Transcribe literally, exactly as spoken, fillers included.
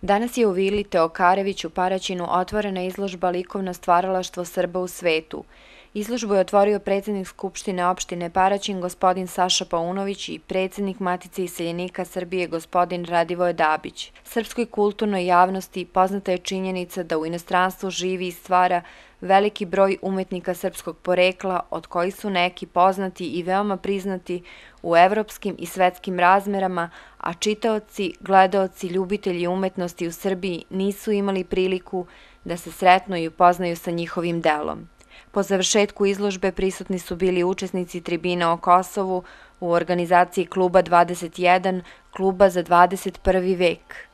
Danas je u vili Teokarević u Paraćinu otvorena izložba Likovno stvaralaštvo Srba u svetu. Izložbu je otvorio predsednik Skupštine opštine Paraćin gospodin Saša Paunović i predsednik Matice iseljenika Srbije gospodin Radivoje Dabić. Srpskoj kulturnoj javnosti poznata je činjenica da u inostranstvu živi i stvara veliki broj umetnika srpskog porekla, od kojih su neki poznati i veoma priznati u evropskim i svetskim razmerama, a čitaoci, gledaoci, ljubitelji umetnosti u Srbiji nisu imali priliku da se sretnu i upoznaju sa njihovim delom. Po završetku izložbe prisutni su bili učesnici tribina o Kosovu u organizaciji Kluba dvadeset jedan, Kluba za dvadeset prvi vek.